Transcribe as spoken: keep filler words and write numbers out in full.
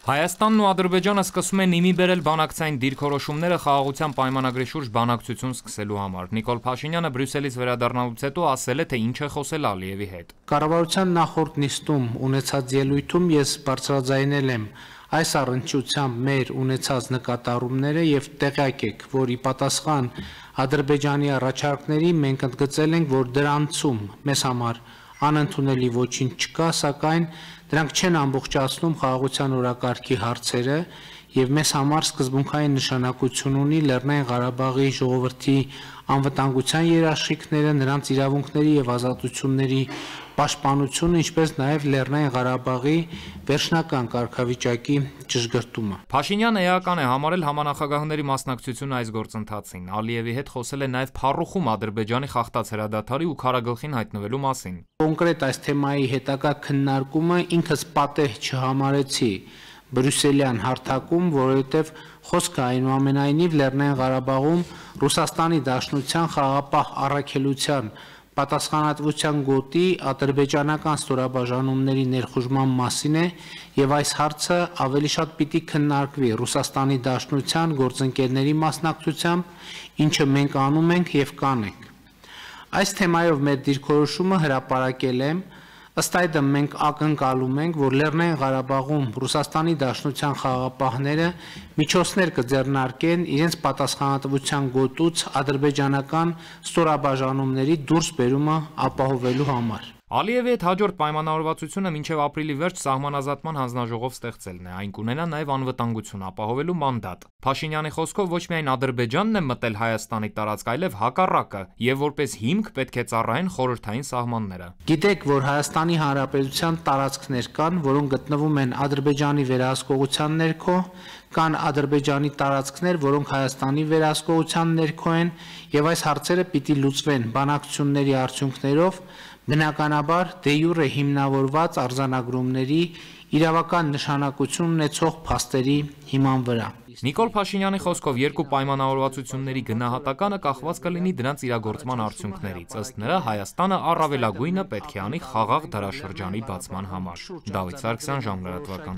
Հայաստանն ու Ադրբեջանը սկսում են իմի բերել բանակցային դիրքորոշումները խաղաղության պայմանագրի շուրջ բանակցություն սկսելու համար։ Նիկոլ Փաշինյանը Բրյուսելից վերադառնալուց հետո ասել է, թե ինչ է խոսել Ալիևի հետ։ Կառավարության նախորդ նիստում ունեցած ելույթում ես բարձրաձայնել եմ այս առնչությամբ մեր ունեցած նկատառումները եւ տեղյակ եք, որ ի պատասխան Ադրբեջանի առաջարկների մենք ընդգծել ենք, որ դրանցում մեզ համար անընդունելի ոչինչ չկա, սակայն դրանք չեն ամբողջացնում խաղաղության օրակարգի հարցերը եւ մեզ համար սկզբունքային նշանակություն ունի Լեռնային Ղարաբաղի ժողովրդի անվտանգության երաշխիքները, նրանց իրավունքների եւ ազատությունների պաշտպանությունը, ինչպես նաեւ Լեռնային Ղարաբաղի վերջնական կարգավիճակի ճշգրտումը։ Փաշինյանը էական է համարել համանախագահների մասնակցությունը այս գործընթացին։ Ալիևի հետ խոսել է նաեւ փառուխում Ադրբեջանի խախտած հրադադարի ու քարագլխին հայտնվելու մասին։ Կոնկրետ այս թեմայի հետագա քննարկումը ինքս պատեհ չհամարեցի Բրյուսելյան հարթակում, որովհետև խոսքը այնուամենայնիվ Լեռնային Ղարաբաղում Ռուսաստանի Դաշնության խաղաղապահ առաքելության պատասխանատվության գոտի ադրբեջանական ստորաբաժանումների ներխուժման մասին է եւ այս հարցը ավելի շատ պիտի քննարկվի Ռուսաստանի Դաշնության գործընկերների մասնակցությամբ, ինչը մենք անում ենք եւ կանենք։ Այս թեմայով մեր դիրքորոշումը հրապարակել եմ, ըստ այդմ մենք ակնկալում ենք, որ Լեռնային Ղարաբաղում Ռուսաստանի Դաշնության խաղաղապահները միջոցներ կձեռնարկեն իրենց պատասխանատվության գոտուց ադրբեջանական ստորաբաժանումների դուրս բերումը ապահովելու համար։ Ալիևի հետ հաջորդ պայմանավորվածությունը մինչև ապրիլի վերջ սահմանազատման հանձնաժողով ստեղծելն է, այն կունենա նաև անվտանգություն ապահովելու մանդատ։ Փաշինյանի խոսքով ոչ միայն Ադրբեջանն է մտել Հայաստանի տարածք, այլև հակառակը, եւ որպես հիմք պետք է ծառայեն խորհրդային սահմանները։ Գիտեք, որ Հայաստանի Հանրապետության տարածքներ կան, որոնք գտնվում են Ադրբեջանի վերահսկողության ներքո, կան Ադրբեջանի տարածքներ, որոնք Հայաստանի վերահսկողության ներքո են, եւ այս հարցերը պիտի լուծվեն բանակցությունների արդյունքներով, բնականաբար դե յուրե հիմնավորված արձանագրումների իրավական նշանակություն ունեցող փաստերի հիման վրա։ Նիկոլ Փաշինյանի խոսքով երկու պայմանավորվածությունների գնահատականը կախված կլինի դրանց իրագործման արդյունքներից։ Ըստ նրա, Հայաստանը առավելագույնը պետք է անի խաղաղ դարաշրջանի բացման համար։ Դավիթ Սարգսյան, Ժամանակ լրատվական։